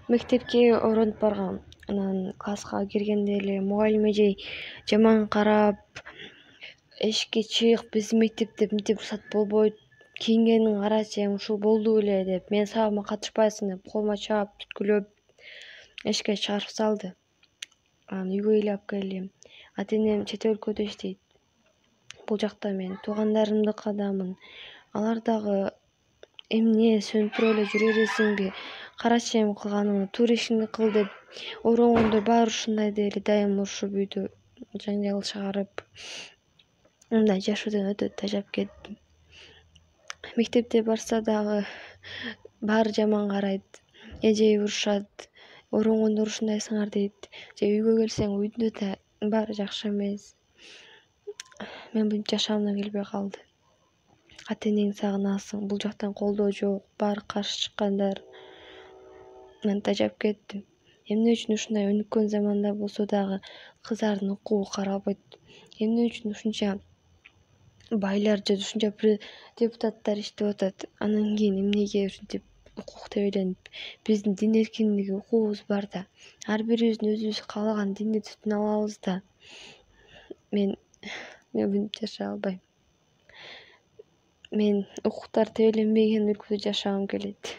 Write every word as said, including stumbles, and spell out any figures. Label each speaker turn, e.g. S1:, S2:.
S1: Мектепке ороонуп баргам. Анан класска киргенде эле мугалим эжей жаман карап, эшикке чык, биздин мектепте мынтип уруксат болбойт, кийингениңди карачы, эми ушул болду беле деп, менин сабагыма катышпайсың деп колума чаап, түрткүлөп эшикке чыгарып салды. Анан үйгө эле алып келдим. Ата энем чет өлкөдө иштейт. Бул жакта мен туугандарымдыкыдамын. Алар дагы эмне сөнүктүрүп эле жүрө бересиңби? Карачы эми кылганыңды, туура ишиңди кыл деп ойрongондор баары ушундай деле дайым урушуп үйдө жаңжал чыгарып, мындай жашоодон өтө тажап кеттим. Мектепте барса дагы баары жаман карайт, эжей урушат, ойрongондор ушундайсыңар дейт. Же үйгө келсең үйдө да баары жакшы эмес. Мен мынтип жашагымдан келбей калды. Ата энеңди сагынасың, бул жактан колдоо жок, баары каршы чыккандар. Мен тажап кеттим. Эмне үчүн ушундай өнүккөн заманда болсо дагы кыздардын укугу каралбайт? Эмне үчүн ушунча байлар же ушунча депутаттар иштеп атат? Анан кийин эмнеге ушинтип укук тебеленип? Биздин дин эркиндиги, укугубуз бар да. Ар бирибиздин өзүбүз каалаган динди түтүнө алабыз да. Мен мен мынтип жашай албайм. Мен укуктар тебеленбеген өлкөдө жашагым келет.